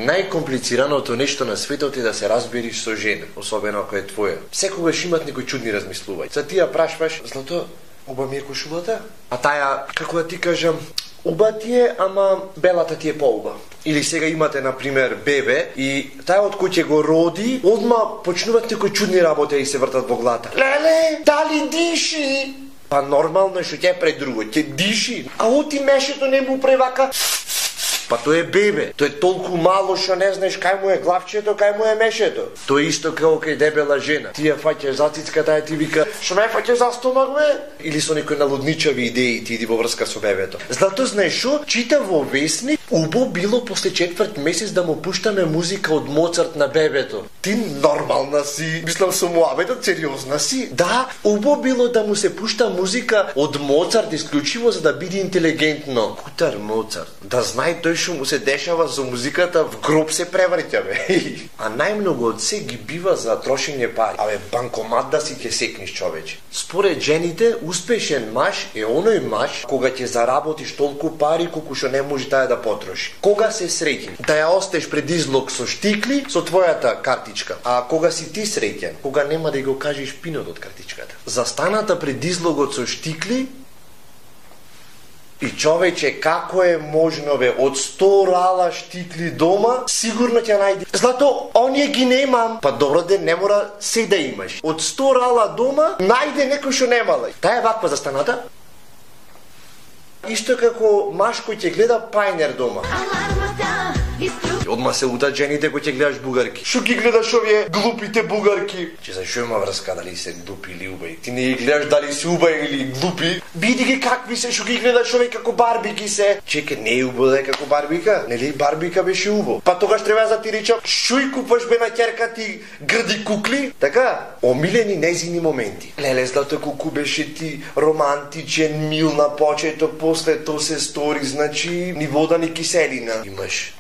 Најкомплицираното нешто на светот е да се разбериш со жена, особено ако е твоја. Секогаш имат некои чудни размислувања. За ти ја прашваш: "Злато, уба ми е кошулата?" А таја, како да ти кажам, уба ти е, ама белата ти е поуба. Или сега имате, например, бебе и тај од кој ќе го роди, одма почнуваат некои чудни работи и се вртат во глата. "Леле, дали диши?" Па нормално што ќе пред друго, ќе диши. А оти мешето не му превака. Па тој е бебе, тој е толку мало што не знаеш кај му е главчето, кај му е мешето. Тоа е исто како кај дебела жена. Ти ја фаќаш за цицката, тај ти вика: "Што ме фаќаш за стомак, бе?" Или со некои налудничави идеи ти иди во врска со бебето. Зато знаеш што? Чита во весник, убо било после 4 месец да му пуштаме музика од Моцарт на бебето. Ти нормална си? Мислам со муабетот сериозна си? Да, убо било да му се пушта музика од Моцарт исклучиво за да биде интелигентно. Кутар Моцарт, да знае тој што му се дешава со музиката, в гроб се преврќа, бе. А најмногу од се ги бива за трошење пари. Абе, банкомат да си ќе секниш, човече. Според жените, успешен маж е оној маж кога ќе заработиш толку пари колку што не може таја да потроши. Кога се среќен? Да ја остеш пред излог со штикли со твојата картичка. А кога си ти среќен? Кога нема да го кажеш пинот од картичката. Застаната пред излогот со штикли. И човече, како е можно, бе, од 100 рала штикли дома, сигурно ќе најде. Злато, оние ги немам. Па добро де, не мора се да имаш. Од 100 рала дома, најде некој што немала. Таа е ваква застаната. Исто како маж кој ќе гледа пајнер дома. Одма се утат жените кои ќе гледаш бугарки. Шо ги гледаш овие глупите бугарки? Че за шо има врска дали се глупи или убави? Ти не ги гледаш дали си убави или глупи? Биди ги какви се, шо ги гледаш овие како барбики се? Чеке, не е убаво да е како барбика? Нели барбика беше убаво? Па тогаш треба да ти речам, шо и купаш бе на ќерка ти грди кукли? Така? Омилени незини моменти. Леле, Злато, колку беше ти романтичен, мил на почето, после то се стори, значи ни вода ни киселина. Имаш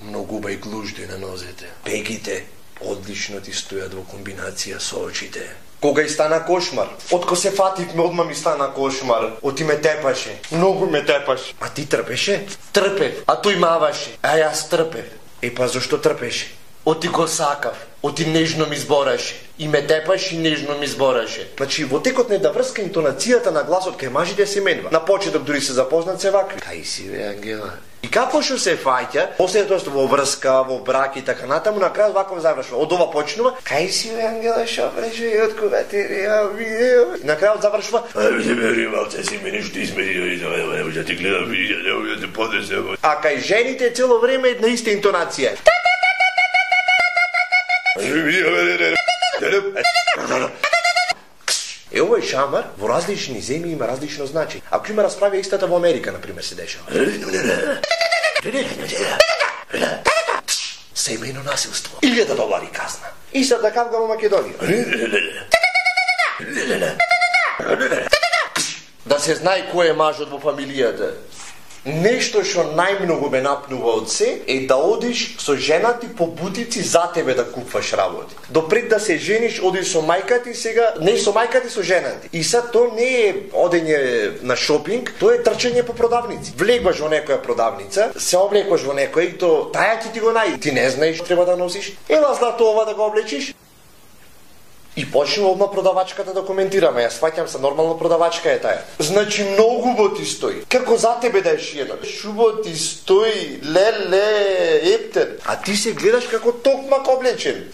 многу бај глужди на нозете. Пегите одлично ти стојат во комбинација со очите. Кога и стана кошмар? Отко се фативме, одма ми стана кошмар. Оти ме тепаше. Многу ме тепаше. А ти трпеше? Трпев. А тој маваше. А јас трпев. Па зашто трпеше? Оти го сакав. Оти нежно ми збораше. И ме тепаше и нежно ми збораше. Значи, во текот на една врска интонацијата на гласот кај мажите се менува. На почеток дури се запознат се вакви. Кај си, бе, Ангела? И како што се фаќа, после тоа што во врска, во брак и така натаму, на крај ваков завршува. Од ова почнува: "Кај си, бе, Ангела, шо беше и од кога ти реагира?" На крај завршува: "Ајде ме малце си мене што измери, не може да ти гледам, не може да ти подесам." А кај жените цело време една иста интонација. Овој шамар во различни земји има различно значење. Ако има расправа истата во Америка, например, се дешава. Семејно насилство. $1000 казна. И сад да кавга во Македонија. Да се знае кој е мажот во фамилијата. Нешто што најмногу ме напнува од се е да одиш со жена ти по бутици за тебе да купваш работи. Допред да се жениш, одиш со мајка ти, сега не со мајка ти, со жена ти. И сад тоа не е одење на шопинг, тоа е трчање по продавници. Влегваш во некоја продавница, се облекуваш во некој и то таја ти го најде. Ти не знаеш што треба да носиш. Ела, Злато, ова да го облечиш. И почнува одма продавачката да коментираме. Јас сваќам се, нормално продавачка е таја. Значи многу убо ти стои. Како за тебе да е шиено. Шубо ти стои, леле, ептен. А ти се гледаш како токмак облечен.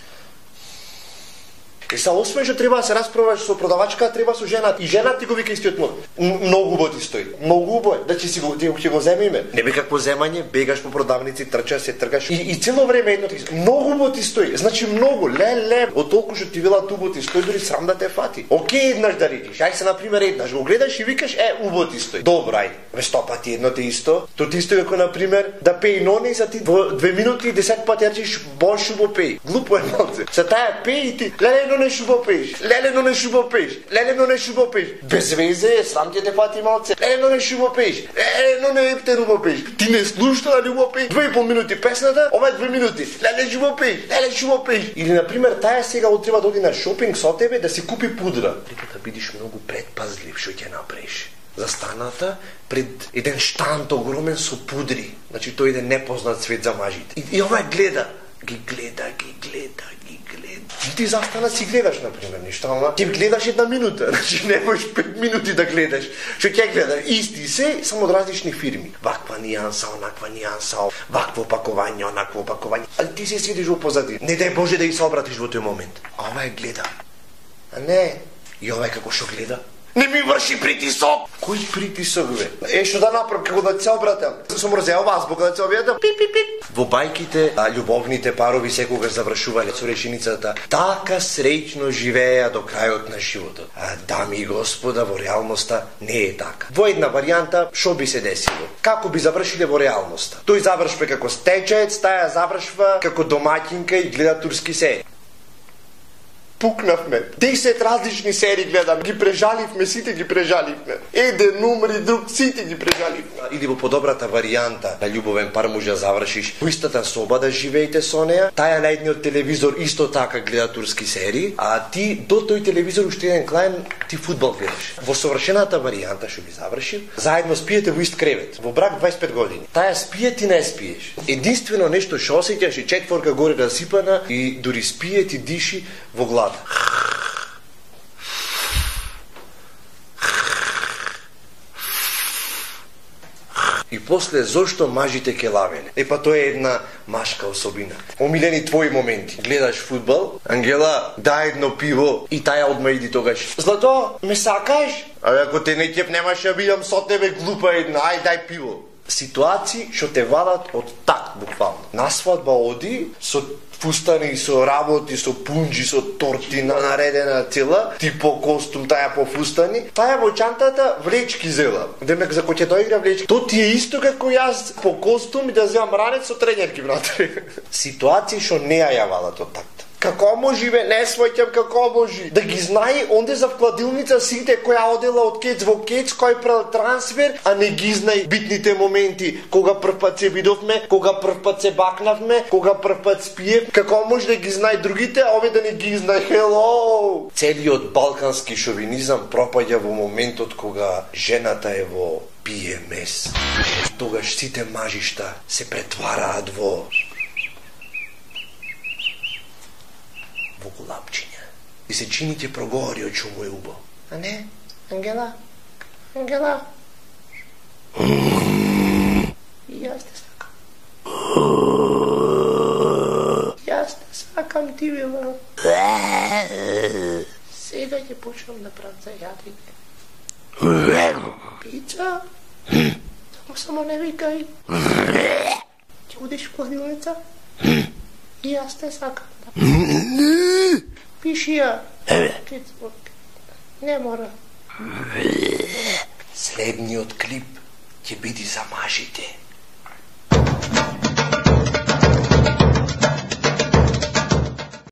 И са освен што треба да се расправаш со продавачка, треба со жена. И жена ти го вика истиот мод. Многу убо ти стои. Многу убо е. Да ќе си го ќе го земиме. Не бе какво земање, бегаш по продавници, трчаш, се тргаш. И цело време едно ти. Многу убо ти стои. Значи многу, леле. Од толку што ти велат убо ти стои, дури срам да те фати. Океј, еднаш да речиш. Ај се на пример еднаш го гледаш и викаш убо ти стои. Добро, ајде. Ве 100 пати едно те исто. То ти стои како на пример да пеи ноне за ти во 2 минути и 10 пати речиш бош убо пеи. Глупо е малце. Се таа пеи и ти леле не шубо пееш. Леле, но не шубо пееш. Леле, но не шубо пееш. Без везе, срам ќе те фати малце. Леле, но не шубо пееш. Леле, но не ептен убо пееш. Ти не слушаш дали убо пееш. 2,5 минути песната, ова е 2 минути. Леле, шубо пееш. Леле, шубо пееш. Или на пример таја сега треба да оди на шопинг со тебе да си купи пудра. Треба да бидиш многу предпазлив што ќе направиш. застаната пред еден штант огромен со пудри. Значи тој еден непознат свет за мажите. И ова гледа, ги гледа. И ти застана си гледаш, например, нешто, ама ти гледаш 1 минута, значи не можеш 5 минути да гледаш. Што ќе гледаш? Исти се, само од различни фирми. Ваква нијанса, онаква нијанса, вакво опакување, онакво опакување. Али ти се седиш во позади. Не дај Боже да ги се обратиш во тој момент. А ова гледа. А не, и ова како што гледа. Не ми врши притисок! Кој притисок, бе? Што да направам, како да се обратам? Сум мрзеал вас, бока да се објадам? Пип. Во бајките, љубовните парови секогаш завршувале со реченицата така среќно живееа до крајот на животот. Дами и господа, во реалноста не е така. Во една варијанта, што би се десило? Како би завршиле во реалноста? Тој завршва како стечаец, таја завршва како домаќинка и гледа турски серии. Пукнавме. 10 различни серии гледам, ги прежаливме, сите ги прежаливме. Еден умри, друг, сите ги прежаливме. Или во подобрата варијанта на љубовен пар може да завршиш во истата соба да живеете со неа, таја на едниот телевизор исто така гледа турски серии, а ти до тој телевизор уште еден клаен ти фудбал гледаш. Во совршената варијанта што би завршил, заедно спиете во ист кревет, во брак 25 години. Таја спие, ти не спиеш. Единствено нешто што осеќаш е четворка горе расипана и дури спие ти диши во глава. И после зошто мажите ке лавеле? Па тоа е една машка особина. Омилени твои моменти. Гледаш фудбал, Ангела, дај едно пиво и таја одма иди тогаш. Злато, ме сакаш? Ако те не ќеп немаш ја бидам со тебе глупа една, ај дај пиво. Ситуации што те вадат од такт буквално. На свадба оди со фустани, со работи, со пунџи, со торти наредена цела, ти по костум, таја по фустани, таја во чантата влечки зела. Демек за кој ќе доигра влечки. То ти е исто како јас по костум и да земам ранец со тренерки внатре. Ситуации што не ја вадат од такт. Како може, бе, не својќам како може. Да ги знае онде за вкладилница сите која одела од кец во кец, кој прал трансфер, а не ги знае битните моменти. Кога прв пат се видовме, кога прв пат се бакнавме, кога прв пат спиев. Како може да ги знае другите, а овие да не ги знае. Хело! Целиот балкански шовинизам пропаѓа во моментот кога жената е во PMS. Тогаш сите мажишта се претвараат во голапчиња. И се чините проговори од што му е убо. А не, Ангела? Јас те сакам. Јас те сакам, ти била. Сега ќе почнам да правам за јадење. Пица? Само не викај. Ќе одиш в кладилница? И јас те сакам. Пиши ја. Не мора. Следниот клип ќе биде за мажите.